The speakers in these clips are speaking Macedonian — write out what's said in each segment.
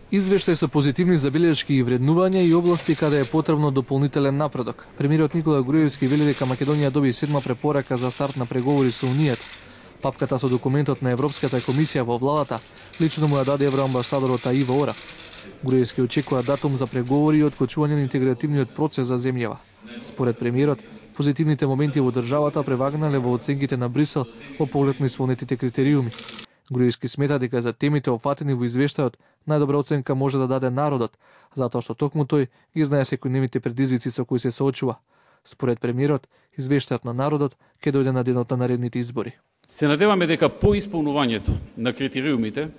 Извештај со позитивни забелешки и вреднувања и области каде е потребно дополнителен напредок. Премиерот Никола Груевски вели дека Македонија доби 7 препорака за старт на преговори со Унијата. Папката со документот на Европската комисија во владата лично му ја даде евроамбасадорот Аива Ора. Груевски очекува датум за преговори и откочување на интегративниот процес за земјава. Според премиерот, позитивните моменти во државата превагнале во оценките на Брисел во поглед на исполнетите критериуми. Груевски смета дека за темите опфатени во извештајот најдобра оценка може да даде народот, затоа што токму тој ги знае секојдневните предизвици со кои се соочува. Според премиерот, извештајот на народот ќе дојде на денот на наредните избори. Се надеваме дека по исполнувањето на критериумите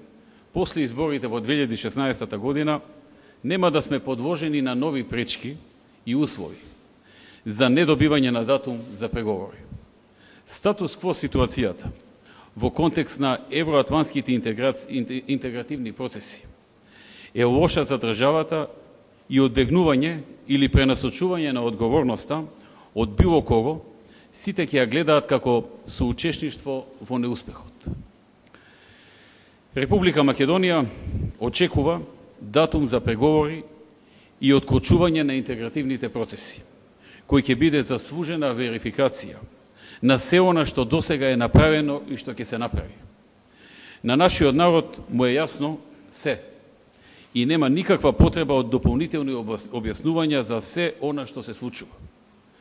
после изборите во 2016 година нема да сме подложени на нови пречки и услови за недобивање на датум за преговори. Статус кво ситуацијата во контекст на евроатлантските интегративни процеси е лоша за државата и одбегнување или пренасочување на одговорноста од било кого, сите ќе ја гледаат како соучесништво во неуспехот. Република Македонија очекува датум за преговори и откочување на интегративните процеси, кој ќе биде заслужена верификација на се она што досега е направено и што ќе се направи. На нашиот народ му е јасно се и нема никаква потреба од дополнителни објаснувања за се она што се случува.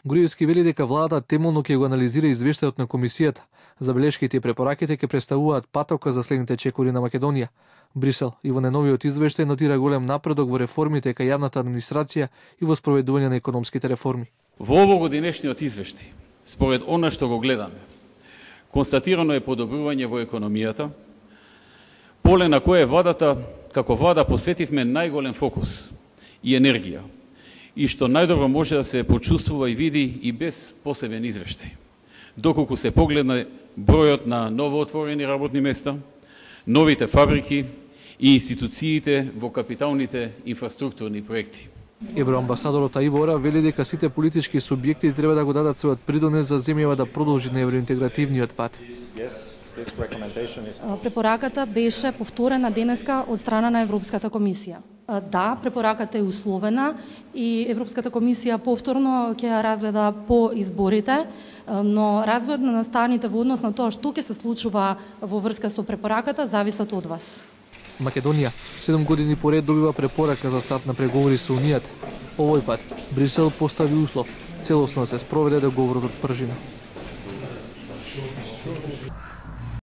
Груевски вели дека владата темелно ќе го анализира извештајот на комисијата. Забелешките и препораките ќе представуваат патока за следните чекори на Македонија. Брисел и во најновиот извештај нотира голем напредок во реформите кај јавната администрација и во спроведување на економските реформи. Во овогодинешниот извештај, според она што го гледаме, констатирано е подобрување во економијата, поле на кое владата, како влада, посветивме најголем фокус и енергија, и што најдобро може да се почувствува и види и без посебен извештај, доколку се погледне бројот на новоотворени работни места, новите фабрики и институциите во капиталните инфраструктурни проекти. Евроамбасадорот Аива Ора вели дека сите политички субјекти треба да го дадат својот придонес за земјава да продолжи на евроинтегративниот пат. Препораката беше повторена денеска од страна на Европската комисија. Да, препораката е условена и Европската комисија повторно ќе ја разгледа по изборите, но развојот на настаните во однос на тоа што ќе се случува во врска со препораката зависат од вас. Македонија 7 години поред добива препорака за старт на преговори со Унијата. Овој пат Брисел постави услов целосно да се спроведе договорот од пржина.